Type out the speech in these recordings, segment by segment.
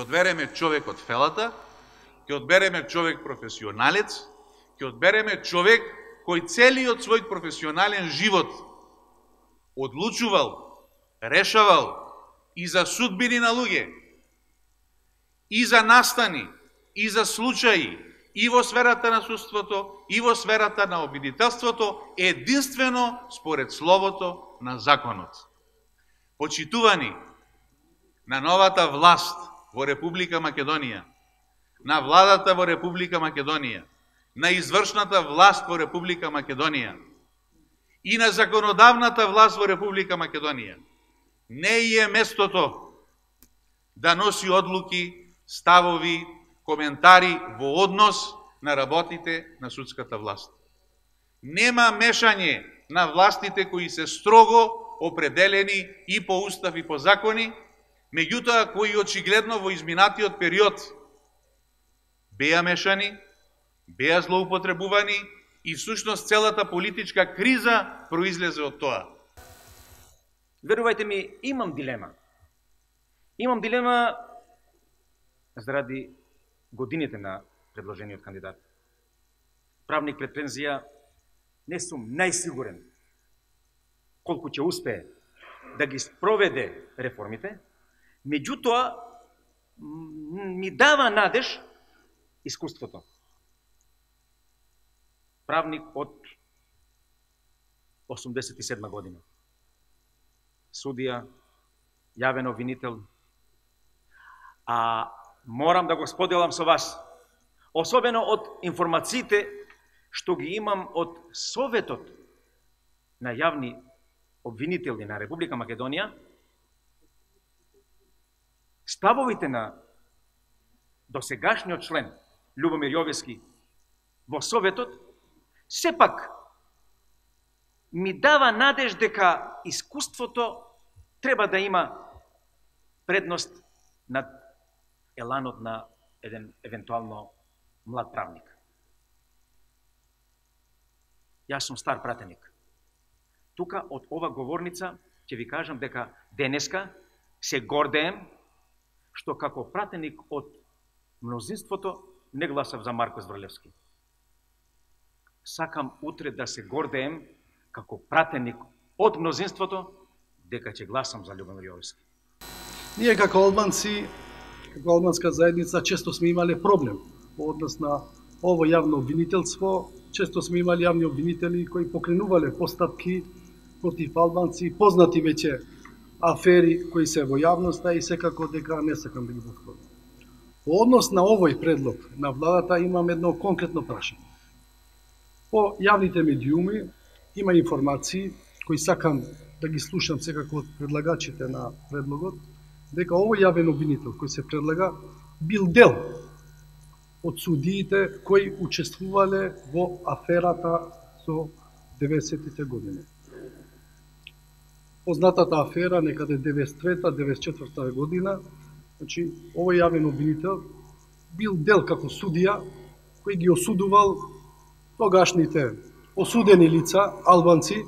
одбереме човек од фелата, ќе одбереме човек професионалец, ќе одбереме човек кој целиот свој професионален живот одлучувал, решавал и за судбини на луѓе, и за настани, и за случаи, и во сферата на судството, и во сферата на обвинителството, единствено според словото на законот. Почитувани на новата власт во Република Македонија, на владата во Република Македонија, на извршната власт во Република Македонија и на законодавната власт во Република Македонија, не е местото да носи одлуки, ставови, коментари во однос на работите на судската власт. Нема мешање на властите кои се строго определени и по устав и по закони, меѓутоа кои очигледно во изминатиот период беа мешани, беа злоупотребувани и всушност целата политичка криза произлезе од тоа. Верувајте ми, имам дилема. Имам дилема заради годините на предложениот кандидат. Правник пред пензија, не сум најсигурен колку ќе успее да ги спроведе реформите, меѓутоа ми дава надеж искуството. Правник од 87 година. Судија, јавен обвинител. А морам да го споделам со вас, особено од информациите што ги имам од Советот на јавни обвинители на Република Македонија, ставовите на досегашниот член Љубомир Јовески во Советот сепак ми дава надеж дека искуството треба да има предност над еланот на еден евентуално млад правник. Јас сум стар пратеник. Тука од ова говорница ќе ви кажам дека денеска се гордеем што како пратеник од мнозинството не гласав за Марко Зврлевски. Сакам утре да се гордеем како пратеник од мнозинството дека ќе гласам за Љубомир Јовески. Ние како албанци, како албанска заедница, често сме имале проблем во однос на ово јавно обвинителство. Често сме имали јавни обвинители кои покренувале постапки против албанци, познати веќе афери кои се во јавноста и секако дека не сакам да ги повторам. Во однос на овој предлог на владата имам едно конкретно прашање. По јавните медиуми има информации кои сакам да ги слушам секако од предлагачите на предлогот, дека овој јавен обвинител кој се предлага бил дел од судиите кои учествувале во аферата со 90-тите години. Познатата афера некаде 93-94 година, значи овој јавен обвинител бил дел како судија кој ги осудувал тогашните осудени лица, албанци,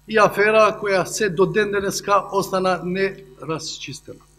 и афера која се до ден денеска остана нерасчистена.